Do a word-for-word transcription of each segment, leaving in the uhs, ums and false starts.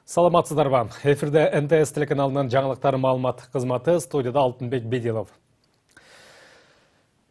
Саламатсыздарбы. Эфирде эн тэ эс телеканалынын жаңылыктар маалымат кызматы, студияда Алтынбек Бедилов.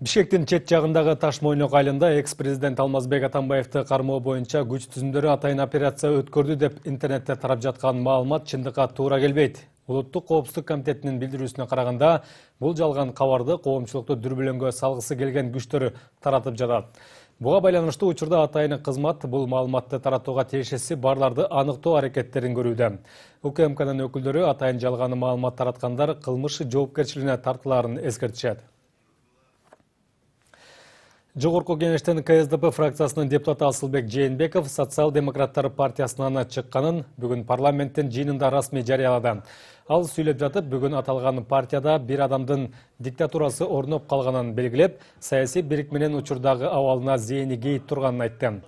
Бишкектин чет жагындагы Таш-Мойнок айылында экс-президент Алмазбек Атамбаевди кармоо боюнча күч түзүмдөрү атайын операция өткөрдү деп интернетте тарап жаткан маалымат чындыкка туура келбейт. Улуттук коопсуздук комитетинин билдирүүсүнө караганда, бул жалган кабарды коомчулукту дүрбөлөңгө салгысы келген күчтөр таратып жатат. Буга байланыштуу учурда атайын кызмат бул маалыматты таратууга тиешеси барларды аныктоо аракеттерин көрүүдө. У К М К'нын өкүлдөрү атайын жалган маалымат тараткандар кылмыш жоопкерчилигине тартылаарын эскертишет. Жогорку кеңештин К С Д П фракциясынын депутаты Асылбек Жээнбеков социал-демократтар партиясынан чыкканын бүгүн парламенттин жыйынында расмий жарыялады. Ал сүйлөп жатып, бүгүн аталган партияда бир адамдын диктатурасы орноп калганын белгилеп, саясий бирикменин учурдагы абалына зээни кейип турганын айтты.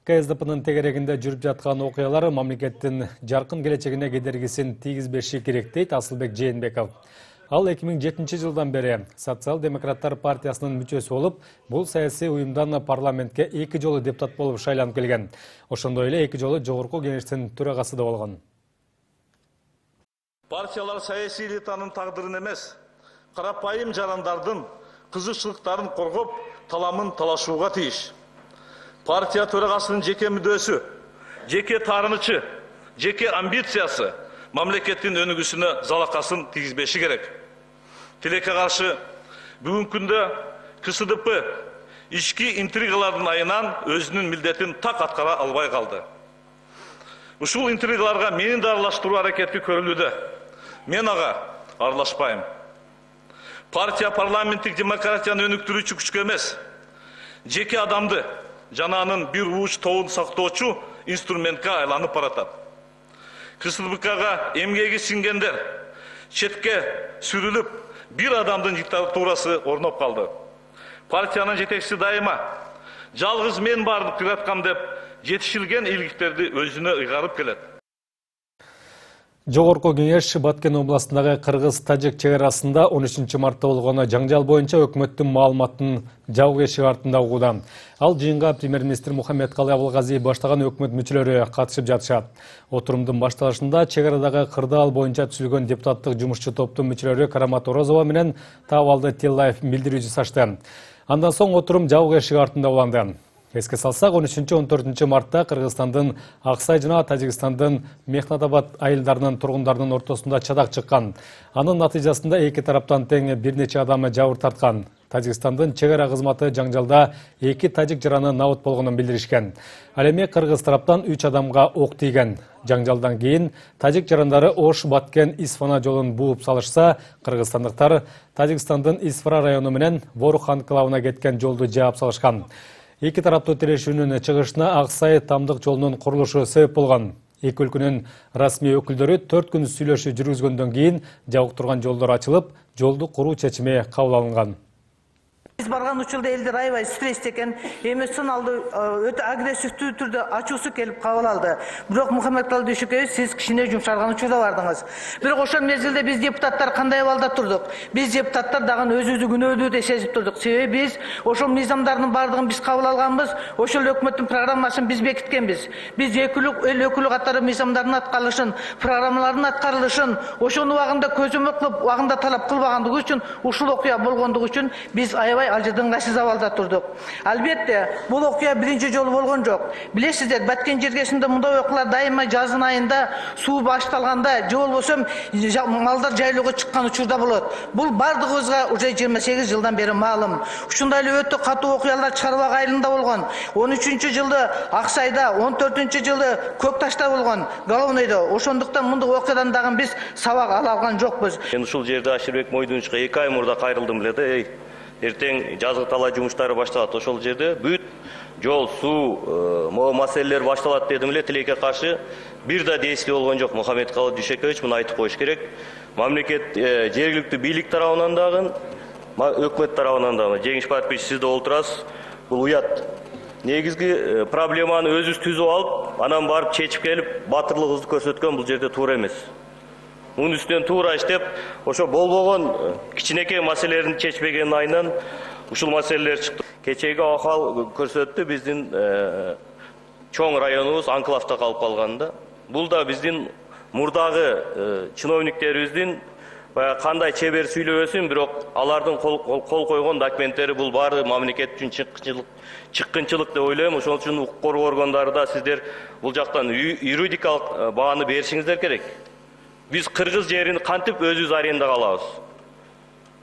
К С Д П'нын тегерегинде жүрүп жаткан окуялар мамлекеттин жаркын келечегине кедергисин тийгизбеши керек дейт Асылбек Жээнбеков. Ал эки миң жетинчи жылдан бери социал-демократтар партиясынын мүчөсү болуп, бул саясий уюмдан парламентке эки жолу депутат болуп шайланып келген. Ошондой эле эки жолу жогорку кеңештин төрагасы да болгон. Партиялар саясий элитанын тагдырын эмес, карапайым жарандардын кызыкчылыктарын коргоп, таламын талашууга тийиш. Партия төрагасынын жеке мүдөөсү, жеке таарынычы, жеке амбициясы мамлекеттин өнүгүүсүнө залакасын тийгизбеши керек. Тилекке каршы бүгүнкү күндө К С Д П ички интригалардын айынан өзүнүн милдетин так аткара албай калды. Ушул интригаларга менин да аралаштыруу аракети көрүлүүдө. Мен ага аралашпайм. Партия парламенттик демократияны өнүктүрүүчү күчкө эмес, жеке адамды жана анын бир ууч тобун сактоочу инструментке айланып баратат. К С Д П'га эмгеги сиңгендер четке сүрүлүп, бир адамдын диктатурасы орноп калды. Партиянын жетекчиси дайыма жалгыз мен бардык кыраткам деп жетишилген ийгиликтерди өзүнө ыйгарып келет. Жогорку кеңеш Баткен областындагы Кыргыз-Тажик чек арасында он үчүнчү мартта болгон жаңжал боюнча өкмөттүн маалыматын жабык эшик артында угууда. Ал жыйынга премьер-министр Мухаммедкалый Абылгазиев баштаган өкмөт мүчөлөрү катышып жатышат. Отурумдун башталышында чек арадагы кырдаал боюнча түзүлгөн депутаттык жумушчу топтун мүчөлөрү Карамат Орозова менен Табалды Тиллаев билдирүү жасашты. Андан соң отурум жабык эшик артында уланды. Эске салсак, он үчүнчү он төртүнчү мартта Кыргызстандын Аксай жана Тажикстандын Мехнатабад айылдарынын тургундарынын ортосунда чадак чыккан. Анын натыйжасында эки тараптан тең бир нече адам жабыр тарткан. Тажикстандын чек ара кызматы жаңжалда эки тажик жараны набыт болгонун билдиришкен. Ал эми кыргыз тараптан үч адамга ок тийген. Жаңжалдан кийин тажик жарандары Ош, Баткен, Исфана жолун бууп салышса, кыргызстандыктар Тажикстандын Исфара району менен Борух анклавына кеткен жолду жаап салышкан. Эки тараптуу тирешүүнүн чыгышына Аксай тамдык жолунун курулушу себеп болгон. Эки өлкөнүн расмий өкүлдөрү төрт күн сүйлөшүү жүргүзгөндөн кийин жабык турган жолдор ачылып, жолду куруу чечими кабыл алынган. Биз барган учурда элдер аябай стрессте экен, эмоционалдуу, өтө агрессивдүү түрдө ачуусу келип кабыл алды. Бирок Мухаммедкалый Дүйшөкөев, сиз кичине жумшарган учурда бардыңыз. Бирок ошол мезгилде биз депутаттар кандай абалда турдук? Биз депутаттар дагы өзүбүздү күнөөдүү деп сезип турдук. Себеби биз ошол мыйзамдардын бардыгын биз кабыл алганбыз, ошол өкмөттүн программасын биз бекиткенбиз. Биз экилүү эл өкүлү катары мыйзамдардын аткарылышын, программалардын аткарылышын, ошону убагында көзөмөл кылып, убагында талап кылбагандыгы үчүн, ушул окуя болгондугу үчүн биз аябай алжыдыңгачсыз абалда турдук. Албетте, бул окуя биринчи жолу болгон жок. Билесиздер, Баткен жергесинде мындай окуялар дайыма жазын айында суу башталганда, же болбосо малдар жайлоого чыккан учурда болот. Бул бардыгыбызга уже жыйырма сегиз жылдан бери маалым. Ушундай эле өтө катуу окуялар Чарбак айылында болгон. он үчүнчү жылы Аксайда, он төртүнчү жылы Көк Ташта болгон, Головнойдо. Ошондуктан мындай окуядан дагы биз сабак ала алган жокпуз. Мен ушул жерде Аширбек Мойдунчукка эки ай мурда кайрылдым эле да, эй. Эртең жазгы талаа жумуштары башталат. Ошол жерде бүт жол, суу, могу маселелер башталат дедим эле. Тилекке каршы бир да действие болгон жок. Мухаммедкалый Дүйшөкөевич муну айтып коюш керек. Мамлекет жергиликтүү бийлик тарабынан дагы, өкмөт тарабынан дагы, жеңиш подписчи сиз да олтурасыз. Бул уят. Негизги проблеманы өзүбүз түзүп алып, анан барып чечип келип, батырлыгыбызды көрсөткөн бул жерде туура эмес. Мунун үстүнөн туура иштеп, ошо болбогон кичинекей маселелерин чечпегенин айынан ушул маселелер чыкты. Кечеги акыл көрсөттү, биздин чоң районубуз анклавда калып калганда. Бул да биздин мурдагы чиновниктерибиздин кандай чебер сүйлөбөсүн, бирок алардын кол койгон документтери бул баары мамлекет үчүн чыккынчылык чыккынчылык деп ойлойм. Ошол үчүн укук коргоо органдары да сиздер бул жактан юридикалык бааны беришиңиздер керек. Биз кыргыз жерин кантип өзүбүз арендага алабыз?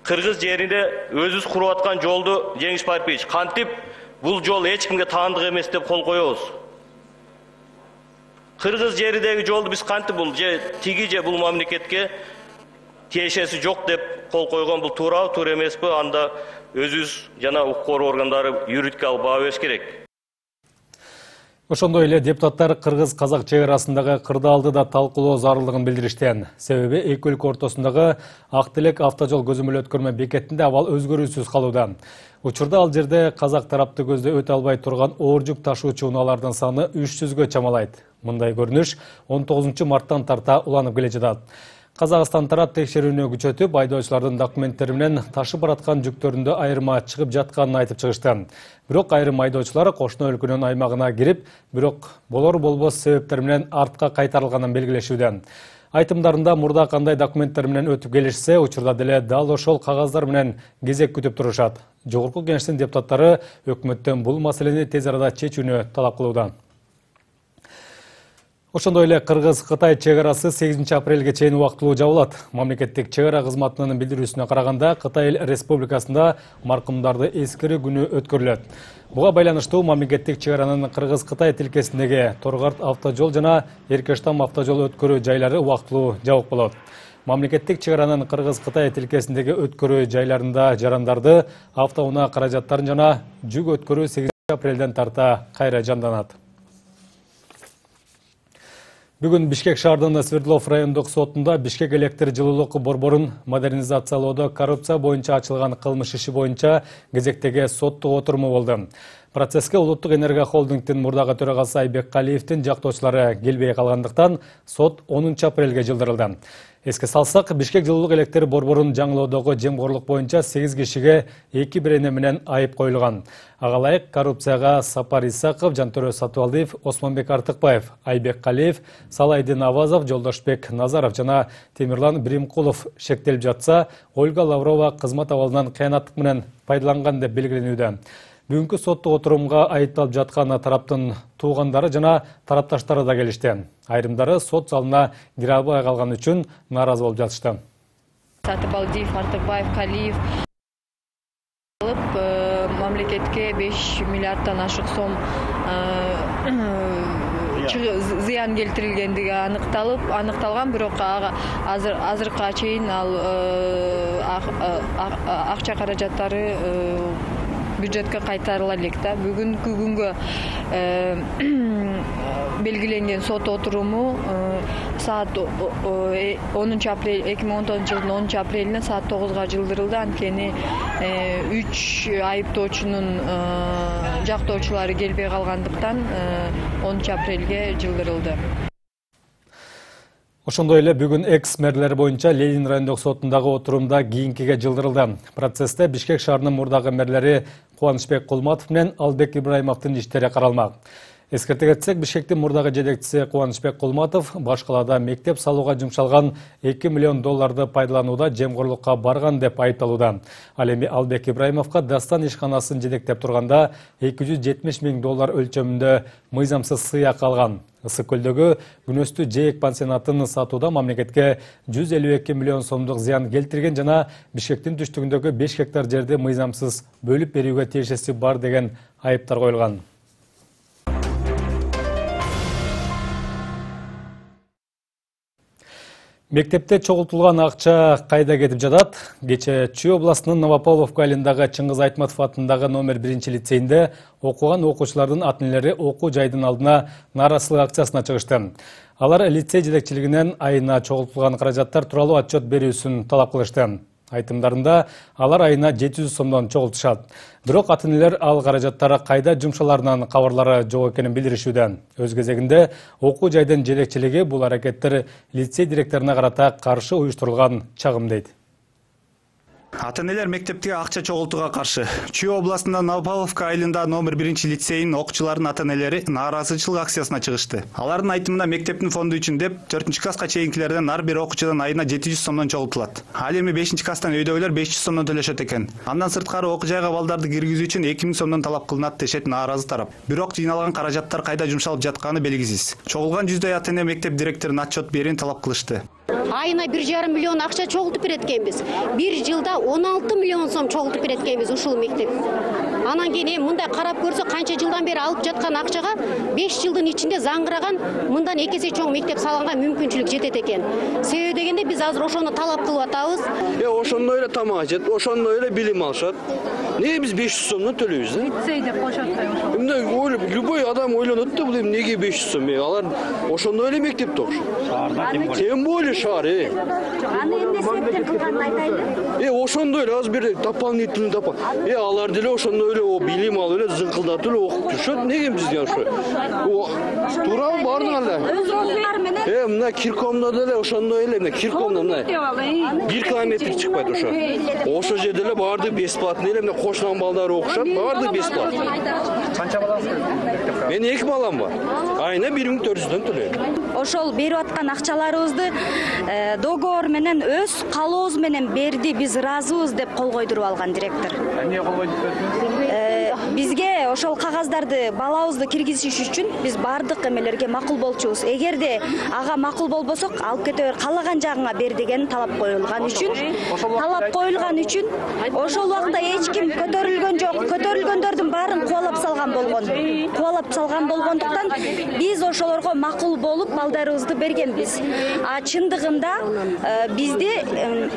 Кыргыз жеринде өзүбүз куруп аткан жолду Жеңиш Парпиевич кантип бул жол эч кимге таандык эмес деп кол коебуз? Кыргыз жеридеги жолду биз кантип бул же тиги же бул мамлекетке тиешеси жок деп кол койгон, бул туурабы, туура эмеспи? Анда өзүбүз жана укук коргоо органдары юридикалык баа бериш керек. Ошондой эле депутаттар кыргыз-казак чек арасындагы кырдаалды да талкуулоо зарылдыгын билдиришти. Себеби эки өлкө ортосундагы Ак Телек автожол көзөмөл өткөрмө бекетинде абал өзгөрүүсүз калууда. Учурда ал жерде казак тарапты көздөй өтө албай турган оор жүк ташуучу унаалардын саны үч жүзгө чамалайт. Мындай көрүнүш он тогузунчу марттан тарта уланып келе жатат. Казакстан тарап текшерүүнү күчөтүп, айдоочулардын документтери менен ташып бараткан жүктөрүндө айырма чыгып жатканын айтып чыгышты. Бирок айрым айдоочулар кошуна өлкөнүн аймагына кирип, бирок болор болбос себептер менен артка кайтарылганын белгилешүүдө. Айтымдарында мурда кандай документтер менен өтүп келишсе, учурда деле дал ошол кагаздар менен кезек күтүп турушат. Жогорку Кеңештин депутаттары өкмөттөн бул маселени тез арада чечүүнү талап кылууда. Ошондой эле Кыргыз-Кытай чек арасы сегизинчи апрелге чейин убактылуу жабылат. Мамлекеттик чек ара кызматынын билдирүүсүнө караганда, Кытай Республикасында маркумдарды эскерүү күнү өткөрүлөт. Буга байланыштуу мамлекеттик чек аранын Кыргыз-Кытай тилкесиндеги Торгарт автожол жана Эркештам автожол өткөрүү жайлары убактылуу жабык болот. Мамлекеттик чек аранын Кыргыз-Кытай тилкесиндеги өткөрүү жайларында жарандарды, автоунаа каражаттарын жана жүк өткөрүү сегизинчи апрелден тарта кайра жанданат. Бүгүн Бишкек шаарынын Свердлов райондук сотунда Бишкек электр жылуулук борборун модернизациялоодо коррупция боюнча ачылган кылмыш иши боюнча кезектеги соттук отуруму болду. Процесске Улуттук энергия холдингдин мурдагы төрагасы Айбек Калиевдин жактоочулары келбей калгандыктан сот онунчу апрелге жылдырылды. Эске салсак, Бишкек жылуулук электр борборун жаңылоодогу жемгорлук боюнча сегиз кишиге эки бирене менен айып коюлган. Ага ылайык коррупцияга Сапар Исаков, Жантөрө Сатыбалдиев, Осмонбек Артыкбаев, Айбек Калиев, Салайдин Авазов, Жолдошбек Назаров жана Темирлан Биримкулов шектелип жатса, Ольга Лаврова кызмат абалынан кыянаттык менен пайдаланган деп белгиленүүдө. Бүгүнкү соттук отурумга айыпталып жаткан тараптын туугандары жана тарапташтары да келишти. Айрымдары сот залына кире албай калган үчүн нааразы болуп жатышты. Сатыбалдиев, Артыкбаев, Калиев алып мамлекетке беш миллиарддан ашык сом зыян келтирилгендиги аныкталып, аныкталган, бирок азыр азыркыга чейин ал акча каражаттары бюджетке кайтарыла элек да. Бүгүнкү күнгө белгиленген сот отуруму саат онунчу апрель эки миң он тогузунчу жылдын онунчу апрелине саат тогузга жылдырылды. Анткени үч айыптоочунун жактоочулары келбей калгандыктан онунчу апрелге жылдырылды. Ошондой эле бүгүн экс-мэрлер боюнча Ленин райондук сотундагы отурумда кийинкиге жылдырылды. Процессте Бишкек шаарынын мурдагы мэрлери Кубанычбек Кулматов менен Албек Ибраимовдун иштери каралмак. Эскерте кетсек, Бишкектин мурдагы жетекчиси Кубанычбек Кулматов баш калаада мектеп салууга жумшалган эки миллион долларды пайдаланууда жемгорлукка барган деп айыпталууда. Ал эми Албек Ибраимовго Дастан ишканасын жетектеп турганда эки жүз жетимиш миң доллар өлчөмүндө мыйзамсыз сыйак алган. Ысык көлдөгү Күнөстүү Жээк пансионатын сатууда мамлекетке жүз элүү эки миллион сомдук зыян келтирген жана Бишкектин түштүгүндөгү беш гектар жерди мыйзамсыз бөлүп берүүгө тиешеси бар деген айыптар коюлган. Мектепте чогултулган акча кайда кетип жатат? Кече Чүй областынын Новополовка айылындагы Чыңгыз Айтматов атындагы номер биринчи лицейинде окуган окуучулардын ата-энелери окуу жайдын алдына нааразычылык акциясына чыгышты. Алар лицей жетекчилигинен айына чогултулган каражаттар тууралуу отчет берүүсүн талап кылышты. Айтымдарында алар айына жети жүз сомдон чогултушат. Бирок ата-энелер ал каражаттар кайда жумшаларынан кабарлары жок экенин билдиришүүдө. Өз кезегинде окуу жайдын жетекчилиги бул аракеттер лицей директоруна карата каршы уюштурулган чагым дейт. Ата-энелер мектептеги акча чогултууга каршы. Чүй областында Новопавловка айылында номер биринчи лицейинин окуучуларынын ата-энелери нааразычылык акциясына чыгышты. Алардын айтымында мектептин фонду үчүн деп төртүнчү класска чейинкилерден ар бир окуучудан айына жети жүз сомдон чогултулат. Ал эми бешинчи класстан өйдөгүлөр беш жүз сомдон төлөшөт экен. Андан сырткары окуу жайга балдарды киргизүү үчүн эки миң сомдон талап кылынат дешет нааразы тарап. Бирок жыйналган каражаттар кайда жумшалып жатканы белгисиз. Чогулган жүздөй ата-эне мектеп директоруна отчет берүүнү талап кылышты. Айына бир жарым миллион акча чогултуп берет экенбиз. Бир жылда он алты миллион сом чогултуп берет экенбиз ушул мектеп. Анан кийин эми мындай карап көрсө канча жылдан бери алып жаткан акчага беш жылдын ичинде заңгыраган мындан эки эсе чоң мектеп салганга мүмкүнчүлүк жетет экен. Себеби дегенде биз азыр ошону талап кылып атабыз. Э ошондой эле тамак ичет, ошондой эле билим алышат. Неге биз беш жүз сомдон төлөйбүз? Лицей деп коюшат да ошо. Мындай ойлоп, любой адам ойлонот да, бул эми неге беш жүз сом? Алар ошондой эле мектепте окушат. Шаарда тем более шаар, э. Аны эмне себептен кылганын айтайлы? Э ошондой эле аз бир дополнительный допол. Э алар деле ошондой эле о билим алып эле зыңкылдатып эле окуп жүрүшөт. Неге бизге ошо? Туурабы бардык эле? Э мына Киркомдо деле ошондой эле, мына Киркомдо мына бир километр чыкпайт ошо. Ошо жерде эле бардык бесплатный эле, мына кошунан балдары окушат, бардык бесплатный. Канча балаңыз бар? Мен эки балам бар. Айына бир миң төрт жүздөн төлөйм. Ошол берип аткан акчаларыбызды договор менен өз каалообуз менен берди, биз ыраазыбыз деп кол койдуруп алган директор. Эмне кол койдуп бердиңиз? Бизге ошол кагаздарды балабызды киргизиш үчүн биз бардык эмелерге макул болчубуз. Эгерде ага макул болбосок, алып кете бер, каалаган жагыңа бер деген талап коюлган үчүн, талап коюлган үчүн ошол убакта эч ким көтөрүлгөн жок. Көтөрүлгөндөрдүн баарын кубалап салган болгон. Кубалап салган болгондуктан биз ошолорго макул болуп балдарыбызды бергенбиз. А чындыгында бизде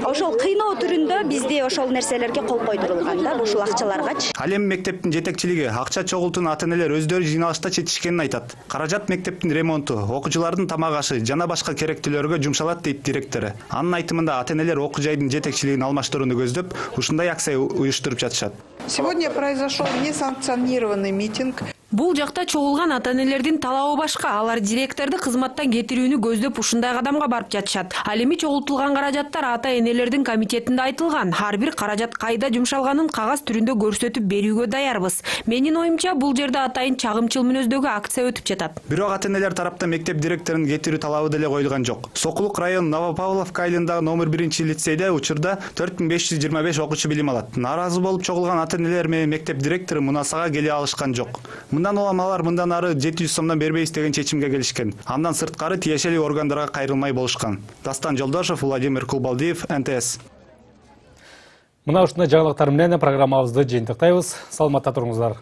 ошол кыйноо түрүндө бизде ошол нерселерге кол койдурулган да, ушул акчаларгачы. Ал эми мектептин жетекчилиги акча чогултууну ата-энелер өздөрү жыйналышта чечишкенин айтат. Каражат мектептин ремонту, окуучулардын тамак ашы жана башка керектүүлөргө жумшалат дейт директору. Анын айтымында ата-энелер окуу жайдын жетекчилигин алмаштырууну көздөп, ушундай акция уюштуруп жатышат. Сегодня произошел несанкционированный митинг. Бул жакта чогулган ата-энелердин талабы башка. Алар директорду кызматтан кетирүүнү көздөп ушундай кадамга барып жатышат. Ал эми чогултулган каражаттар ата-энелердин комитетинде айтылган. Ар бир каражат кайда жумшалганын кагаз түрүндө көрсөтүп берүүгө даярбыз. Менин оюмча, бул жерде атайын чагымчыл мүнөздөгү акция өтүп жатат. Бирок ата-энелер тараптан мектеп директорунун кетирүү талабы деле коюлган жок. Сокулук район Новопавловка айылындагы номер биринчи лицейде учурда төрт миң беш жүз жыйырма беш окуучу билим алат. Нааразы болуп чогулган ата-энелер менен мектеп директору мунасага келе алышкан жок. Мындан улам алар мындан ары жети жүз сомдон бербейбиз деген чечимге келишкен. Андан сырткары тиешелүү органдарга кайрылмай болушкан. Дастан Жолдошов, Владимир Кулбалдиев, эн тэ эс. Мына ушундай жаңылыктар менен программабызды жыйынтыктайбыз. Саламатта туруңуздар.